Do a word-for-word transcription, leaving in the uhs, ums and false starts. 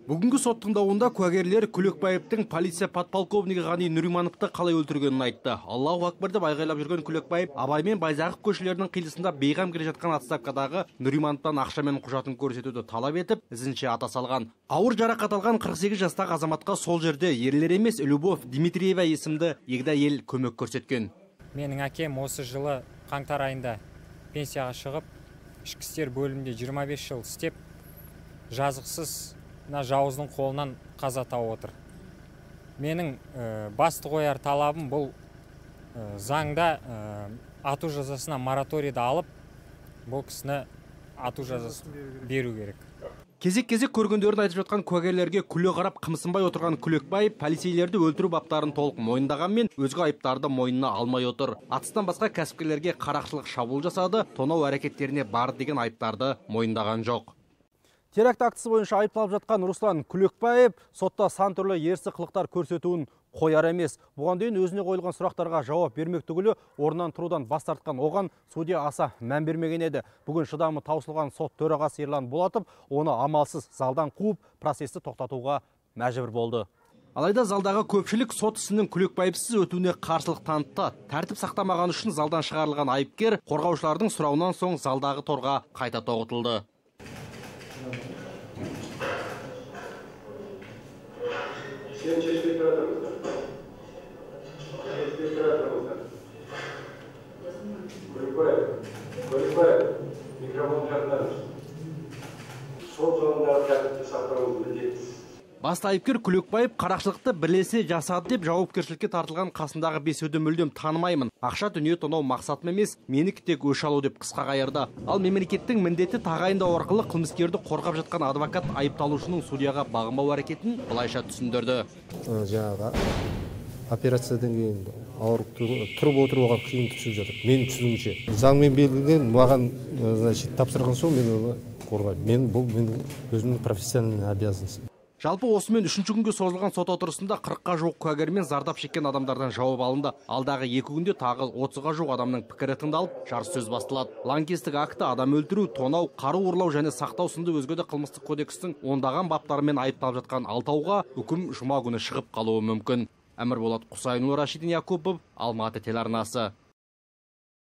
Бүгүнкү сот тыңдауында куәгерлер Күлөкбаевдин полиция подполковниги Гани Нуримановду калай өлтүргөнүн айтты. Аллаху акбар деп айгайлап жүргөн Күлөкбаев Абай мен Байзаков көчөлөрүнүн кыйылысында бейгам келе жаткан отставкадагы Нуримановдон акча менен кужатын көрсөтүүдү талап этип, изинче ата салган. Ауыр жаракат алган кырк сегиз жаштагы азаматка сол жерде эрлер эмес Любовь Дмитриева эсимдүү эгде айыл көмөк көрсөткөн. Менин акем осы жылы каңтар айында пенсияга чыгып, ички иштер бөлүмүндө жыйырма беш жыл иштеп, жазыксыз жауыздың қолынан қаза тауып отыр. Менің ә, басты қояр талабым бұл ә, заңда ә, ату жазасына мораторийді алып, бұл кісіні ату жазасын беру керек. Кезек-кезек көргөндөрүн айтып жаткан куәгерлерге күлө карап кымсынбай отурган Күлөкбаев полицейлерди өлтүрүү баптарын толук мойындаган, өзгө айыптарды мойнуна алмай отур. Атыстан башка кәсипкерлерге каракчылык шабуул жасады, тоноо аракеттерине бар деген айыптарды мойындаган жок. Теракт актысы боюнча айыпталып жаткан Руслан Күлөкбаев сотто сан түрлүү эрси кылыктар көрсөтүүнүн кояр эмес. Буга дейин өзүнө коюлган сурактарга жооп бермек түгүлү ордунан туруудан бас тарткан оган судья аса мән бермеген эди. Бүгүн шыдамы таусылган сот төрагасы Эрлан Болотов оны амалсыз залдан кууп, процессти токтотууга мажбур болду. Алайда залдагы көпчүлүк сот исинин Күлөкбаевсиз өтүүнүне каршылык танытты. Тартип сактамаган үчүн залдан чыгарылган айыпкер коргоочулардын суроонон соң залдагы торго кайта тогутулду. Sen çeşitli kıratırımızdan. Çeşitli kıratırımızdan. Kulüpbayev, Kulüpbayev, mikrofon yakınlarmış. Sol zonunda tertipte saklamamızı bileceğiz. Басты айыпкер Күлөкбаев каракчылыкты бирлесе жасады деп жоопкерчиликке тартылган касындагы бесөөдү мүлдөм таанымаймын. Акча дүнүйө тоноо максатым эмес, меники тек өш алуу деп кыска кайырды. Ал мемлекеттин міндети тагайындоо аркылуу кылмыскерди коргап жаткан адвокат айыпталуучунун судьяга багынбоо аракетин былайша түсүндүрдү. Жанагы операциядан кийин ооруп туруп отурууга кыйын түшүп жатат. Менин түшүнүмчө. Заң менен белгиленген маган значит тапшырган соң мен аны коргойм. Мен бул менин өзүмдүн профессиональный обязанностьм. Жалпы осы мен үшүнчү күнгө созулган сот отурусунда кыркка жук куәгер мен зардап шеккен адамдардан жооп алынды. Алдагы эки күндө тагы отузга жук адамдын пикири тыңдалып, жар сөз басталат. Лаңкестик акты, адам өлтүрүү, тоноо, каруу урлоо жана сактоо сындуу өзгө да кылмыстык кодекстин ондаган баптары менен айыпталып жаткан алтауга үкүм жума күнү чыгып калуу мүмкүн. Амир Болот Кусайынов, Рашидин Якупов, Алматы телеарнасы.